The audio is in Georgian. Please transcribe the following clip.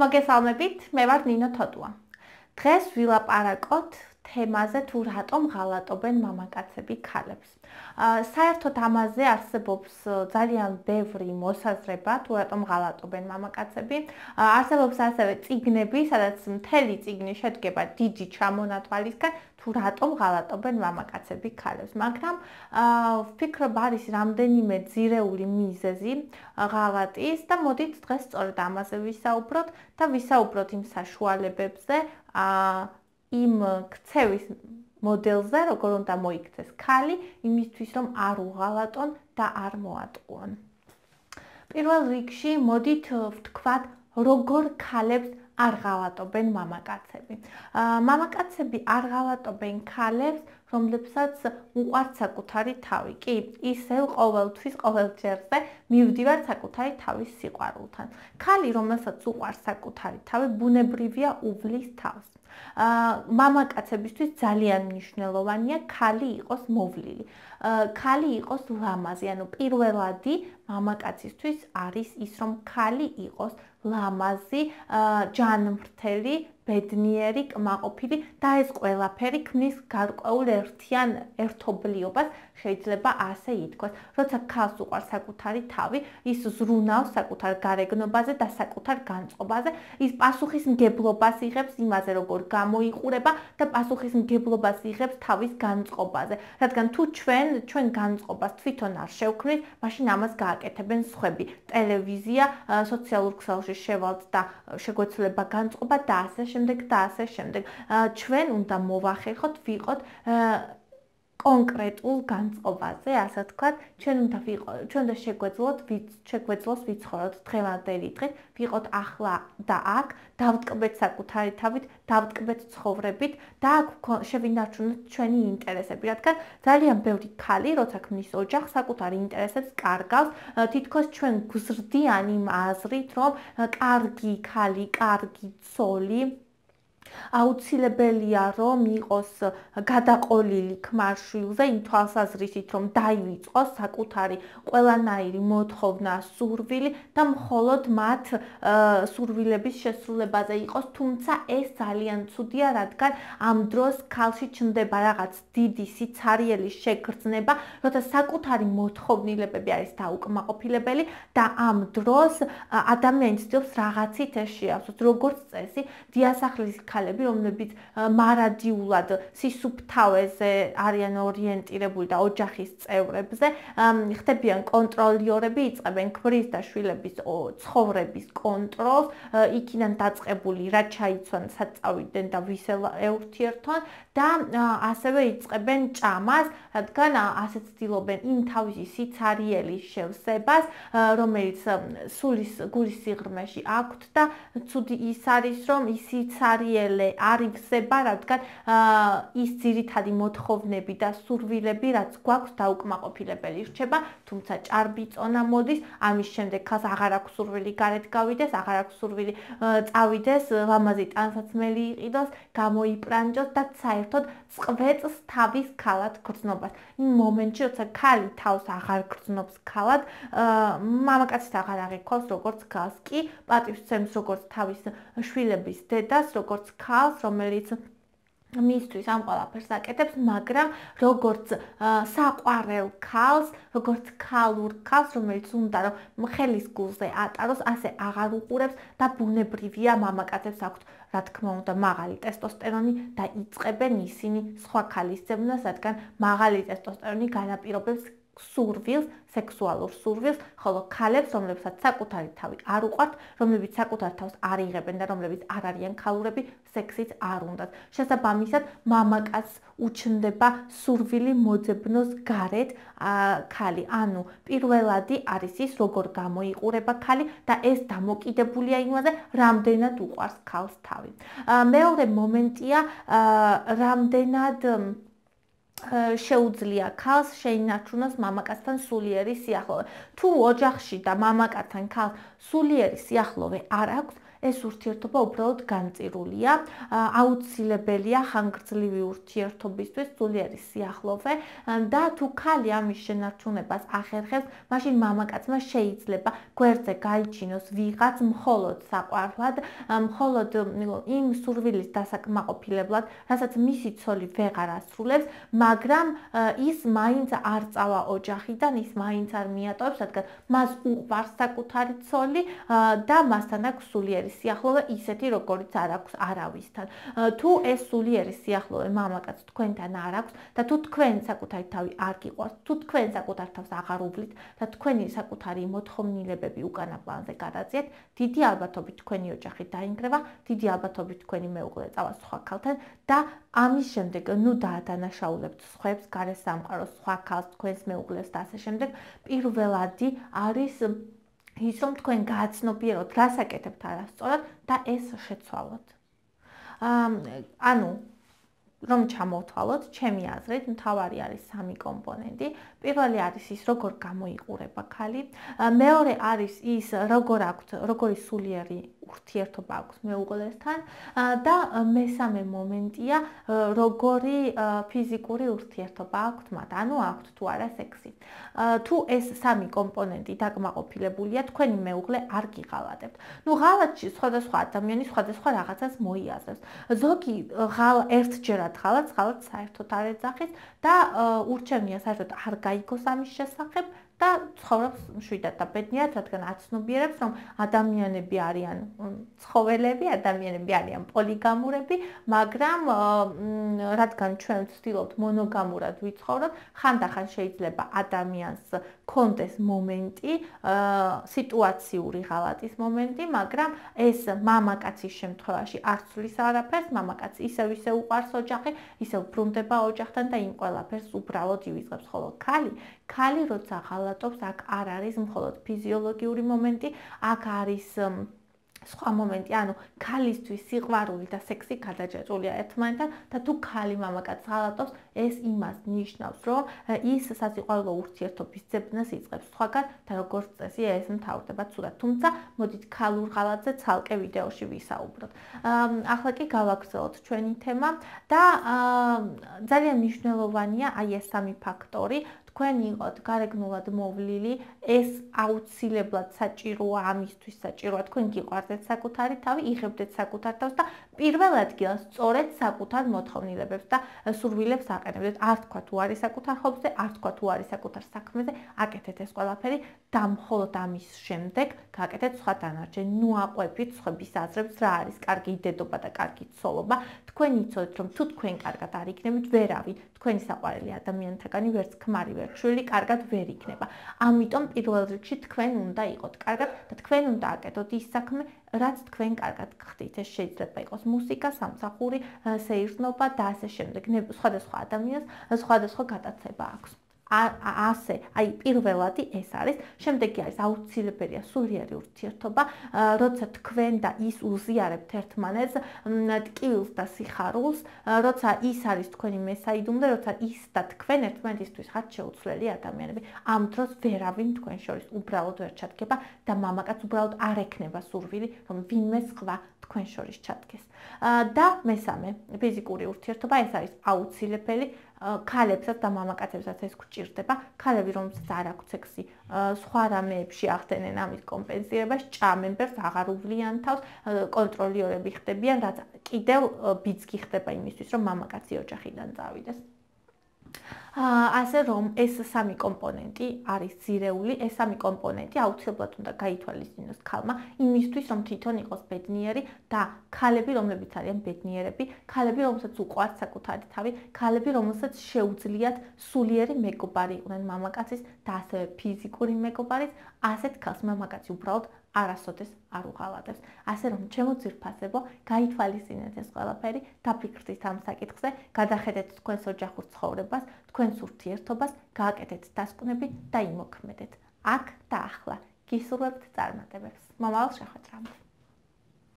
მოგესალმებით, მე ვარ ნინო თოდუა. დღეს ვილაპარაკოთ თემაზე თუ რატომ ღალატობენ მამაკაცები ქალებს. საერთოდ ამაზე არსებობს ძალიან ბევრი მოსაზრება თუ რატომ ღალატობენ მამაკაცები. არსებობს ასევე წიგნები, სადაც მთელი წიგნი შედგება დიდი ჩამონათვალისგან თუ რატომ ღალატობენ მამაკაცები ქალებს. მაგრამ ვფიქრობ არის რამდენიმე ძირეული მიზეზი ღალატის და მოდით დღეს სწორედ ამაზე ვისაუბროთ და ვისაუბროთ იმ საშუალებებზე, იმ ქცევის მოდელზე, როგორ უნდა მოიქცეს ქალი, იმისთვის რომ არ უღალატონ და არ მოატყუონ. პირველ რიგში მოდით ვთქვათ, როგორ ქალებს არ ღალატობენ მამაკაცები. მამაკაცები არ ღალატობენ ქალებს, რომლებსაც უყვართ საკუთარი თავი. კი, ისევ ყოველთვის ყოველჯერზე მივდივარ საკუთარი თავის სიყვარულთან. ქალი, რომელსაც უყვარს საკუთარი თავი, ბუნებრივია უვლის თავს. მამაკაცებისთვის ძალიან მნიშვნელოვანია ქალი იყოს მოვლილი. ქალი იყოს ლამაზი, ანუ პირველადი მამაკაცისთვის არის ის, რომ ქალი იყოს ლამაზი, ჯანმრთელი, ბედნიერი, კმაყოფილი და ეს ყველაფერი ქმნის გარკვეულ ერთიან ერთობლიობას, შეიძლება ასე ითქვას. როცა ქალს უყვარს საკუთარი თავი, ის ზრუნავს საკუთარ გარეგნობაზე და საკუთარ განწყობაზე, ის პასუხისმგებლობას იღებს იმაზე, როგორ გამოიყურება და პასუხისმგებლობას იღებს თავის განწყობაზე. რადგან თუ ჩვენ განწყობას თვითონ არ შევქმნით, მაშინ ამას გააკეთებენ სხვები. ტელევიზია, სოციალურ ქსელში შევალთ და შეგვეცვლება განწყობა და ასე შემდეგ და ასე შემდეგ. ჩვენ უნდა მოვახერხოთ, ვიყოთ კონკრეტულ განწყობაზე, ასე ვთქვათ, ჩვენ უნდა შეგვეძლოს ვიცხოვროთ დღევანდელი დღით, ვიყოთ ახლა და აქ, დავტკბეთ საკუთარი თავით, დავტკბეთ ცხოვრებით და აქ შევინარჩუნოთ ჩვენი ინტერესები, რადგან ძალიან ბევრი ქალი, როცა ქმნის ოჯახს, საკუთარ ინტერესებს კარგავს, თითქოს ჩვენ გვზრდიან იმ აზრით, რომ კარგი ქალი, კარგი ცოლი აუცილებელია რომ იყოს გადაყოლილი ქმარ-შვილზე იმ თვალსაზრისით რომ დაივიწყოს საკუთარი ყველანაირი მოთხოვნა, სურვილი და მხოლოდ მათ სურვილების შესრულებაზე იყოს, თუმცა ეს ძალიან ცუდია, რადგან ამ დროს ქალში ჩნდება რაღაც დიდი სიცარიელი შეგრძნება, როცა საკუთარი მოთხოვნილებები არის დაუკმაყოფილებელი და ამ დროს ადამიანი ცდილობს რაღაცით ეს შეავსოს, როგორც წესი, დიასახლის ქალები, რომლებიც მარადიულად სისუფთავეზე არიან ორიენტირებული და ოჯახის წევრებზე, ხდებიან კონტროლიორები, იწყებენ ქმრის და შვილების ცხოვრების კონტროლს, იქიდან დაწყებული რა ჩაიცვან, საწავიდნენ და ვის ეურთიერთონ და ასევე იწყებენ ჭამას, რადგან ასე ცდილობენ იმ თავისი სიცარიელის შევსებას, რომელიც გულის სიღრმეში აქვთ და ცუდი ის არის, რომ ის სიცარიელე არ ივსება, რადგან ის ძირითადი მოთხოვნები და სურვილები, რაც გვაქვს დაუკმაყოფილებელი რჩება, თუმცა ჭარბი წონა მოდის, ამის შემდეგ ქალს აღარ აქვს სურვილი გარეთ გავიდეს, აღარ აქვს სურვილი წავიდეს, ლამაზი ტანსაცმელი იყიდოს, გამოიპრანჭოს და საერთოდ წყვეტს თავის ქალად გრძნობას. იმ მომენტში, როცა ქალი თავს აღარ გრძნობს ქალად, მამაკაცის აღარ აღიქვავს როგორც ქალს, კი პატივსცემს როგორც თავის შვილების დედას, როგორც ქალს, რომელიც მისთვის ამ ყველაფერს აკეთებს, მაგრამ როგორც საყვარელ ქალს, როგორც ქალურ ქალს, რომელიც უნდა რომ ხელის გულზე ატაროს, ასე აღარ უყურებს და ბუნებრივია მამაკაცებს აქვთ, რა თქმა უნდა, მაღალი ტესტოსტერონი და იწყებენ ისინი სხვა ქალის ძებნას, რადგან მაღალი ტესტოსტერონი განაპირობებს სურვილს, სექსუალურ სურვილს, ხოლო ქალებს, რომლებსაც საკუთარი თავი არ უყვართ, რომლებიც საკუთარ თავს არ იღებენ და რომლებიც არ არიან ქალურები, სექსიც არ უნდათ. შესაბამისად, მამაკაცს უჩნდება სურვილი მოძებნოს გარეთ ქალი. ანუ პირველადი არის ის, როგორ გამოიყურება ქალი და ეს დამოკიდებულია იმაზე, რამდენად უყვარს ქალს თავი. მეორე მომენტია, რამდენად შეუძლია ქალს შეინარჩუნოს მამაკაცთან სულიერი სიახლოვე. თუ ოჯახში და მამაკაცთან ქალს სულიერი სიახლოვე არ აქვს, ეს ურთიერთობა უბრალოდ განწირულია. აუცილებელია ხანგრძლივი ურთიერთობისთვის სულიერი სიახლოვე და თუ ქალი ამის შენარჩუნებას ახერხებს, მაშინ მამაკაცმა შეიძლება გვერდზე გაიჩინოს ვიღაც მხოლოდ საყვარლად, მხოლოდ იმ სურვილის დასაკმაყოფილებლად, რასაც მისი ცოლი ვეღარ ასრულებს, მაგრამ ის მაინც არ წავა ოჯახიდან, ის მაინც არ მიატოვებს, რადგან მას უყვარს საკუთარი ცოლი და მასთან აქვს სულიერი სიახლოვე, ისეთი როგორიც არ აქვს არავისთან. თუ ეს სულიერი სიახლოვე მამაკაც თქვენთან არ აქვს და თუ თქვენ საკუთარი თავი არ გიყვარს, თუ თქვენ საკუთარ თავს აღარ უბლით და თქვენი საკუთარი მოთხოვნილებები უკანა პლანზე გადაძიეთ, დიდი ალბათობით თქვენი ოჯახი დაინგრევა, დიდი ალბათობით თქვენი მეუღლე წავა სხვა ქალთან და ამის შემდეგ ნუ დაადანაშაულებთ სხვებს, გარესამყაროს, სხვა ქალს, თქვენს მეუღლეს და ასე შემდეგ. პირველადი არის ის, რომ თქვენ გააცნობიეროთ, რას აკეთებთ არასწორად და ეს შეცვალოთ. ანუ რომ ჩამოვთვალოთ, ჩემი აზრით, მთავარი არის სამი კომპონენტი. პირველი არის ის, როგორ გამოიყურება ქალი. მეორე არის ის, როგორი სულიერი ურთიერთობა აქვს მეუღლესთან და მესამე მომენტია, როგორი ფიზიკური ურთიერთობა აქვთ მათ, ანუ აქვთ თუ არა სექსი. თუ ეს სამი კომპონენტი დაკმაყოფილებულია, თქვენი მეუღლე არ გიღალატებთ. ნუ ღალატში სხვადასხვა ადამიანი სხვადასხვა რაღაცას მოიაზრებს. ზოგი ერთჯერად ღალატს საერთოდ არ ეძახის და ურჩევნია საერთოდ არ გაიგოს ამის შესახებ და ცხოვრობს მშვიდად და ბედნიერად, რადგან აცნობიერებს, რომ ადამიანები არიან ცხოველები, ადამიანები არიან პოლიგამურები, მაგრამ რადგან ჩვენ ვცდილობთ მონოგამურად ვიცხოვროთ, ხანდახან შეიძლება ადამიანს კონდეს მომენტი, სიტუაციური ღალატის მომენტი, მაგრამ ეს მამაკაცის შემთხვევაში არ ცვლის არაფერს, მამაკაცი ისევ უყვარს ოჯახი, ისევ ბრუნდება ოჯახთან და იმ ყველაფერს უბრალოდ ივიწყებს, ხოლო ქალი როცა ღალატობს, აქ არ არის მხოლოდ ფიზიოლოგიური მომენტი, აქ არის სხვა მომენტი, ანუ ქალისთვის სიყვარული და სექსი გადაჭრილია ერთმანეთთან და თუ ქალი მამაკაცს ღალატობს, ეს იმას ნიშნავს, რომ ის სასიყვარულო ურთიერთობის ძებნას იწყებს სხვაგან და როგორც წესი ეს მთავრდება ცუდად. თუმცა მოდით ქალურ ღალატზე ცალკე ვიდეოში ვისაუბროთ. ახლა კი გავაგრძელოთ ჩვენი თემა და ძალიან მნიშვნელოვანია აი ეს სამი ფაქტორი. თქვენ იყოთ გარეგნულად მოვლილი, ეს აუცილებლად საჭიროა, ამისთვის საჭიროა თქვენ გიყვარდეთ საკუთარი თავი, იღებდეთ საკუთარ თავს და პირველ ადგილას სწორედ საკუთარ მოთხოვნილებებს და სურვილებს აყენებდეთ. არ თქვა თუ არის საკუთარ ხობზე, არ თქვა თუ არის საკუთარ საქმეზე, აკეთეთ ეს ყველაფერი და მხოლოდ ამის შემდეგ გააკეთეთ სხვა დანარჩენი. ნუ აყვებით სხვების აზრებს, რა არის კარგი დედობა და კარგი ცოლობა. თქვენ იცოდეთ, რომ თუ თქვენ კარგად არ იქნებით, ვერავინ თქვენი საყვარელი ადამიანთაგანი ვერც ქმარი ვერც შვილი კარგად ვერ იქნება. ამიტომ პირველ რიგში თქვენ უნდა იყოთ კარგად და თქვენ უნდა აკეთოთ ის საქმე, რაც თქვენ კარგად გხდით. ეს შეიძლება იყოს მუსიკა, სამსახური, სეირნობა და ასე შემდეგ. სხვადასხვა ადამიანს სხვადასხვა გადაცემა აქვს. ასე, აი პირველადი ეს არის, შემდეგი არის აუცილებელია სულიერი ურთიერთობა, როცა თქვენ და ის უზიარებთ ერთმანეთს ტკივილს და სიხარულს, როცა ის არის თქვენი მესაიდუმლე, როცა ის და თქვენ ერთმანეთისთვის ხართ შეუცვლელი ადამიანები. ამ დროს ვერავინ თქვენ შორის უბრალოდ ვერ ჩადგება და მამაკაც უბრალოდ არ ექნება სურვილი, რომ ვინმე სხვა თქვენ შორის ჩადგეს. და მესამე, ფიზიკური ურთიერთობა, ეს არის აუცილებელი. ქალებსაც და მამაკაცებსაც ეს გვჭირდება. ქალები, რომელსაც არ აქვს სექსი, სხვა რამეებში ახდენენ ამის კომპენსირებას, ჭამენ ბერს, აღარ უვლიან თავს, კონტროლიორები ხდებიან, რაც კიდევ ბიძგი ხდება იმისთვის, რომ მამაკაცი ოჯახიდან წავიდეს. ასე რომ ეს სამი კომპონენტი არის ძირეული, ეს სამი კომპონენტი აუცილებლად უნდა გაითვალისწინოს ქალმა იმისთვის, რომ თვითონ იყოს ბედნიერი და ქალები, რომლებიც არიან ბედნიერები, ქალები, რომელსაც უყვართ საკუთარი თავი, ქალები, რომელსაც შეუძლიათ სულიერი მეგობარი იყვნენ მამაკაცის და ასევე ფიზიკური მეგობარის, ასეთ ქალს მამაკაცი უბრალოდ არასოდეს არ უღალატებს. ასე რომ ჩემო ძირფასებო, გაითვალისწინეთ ეს ყველაფერი, დაფიქრდით ამ საკითხზე, გადახედეთ თქვენს ოჯახურ ცხოვრებას, თქვენს ურთიერთობას, გააკეთეთ დასკვნები და იმოქმედეთ. აქ და ახლა გისურვებთ წარმატებებს. მომავალ შეხვედრამდე.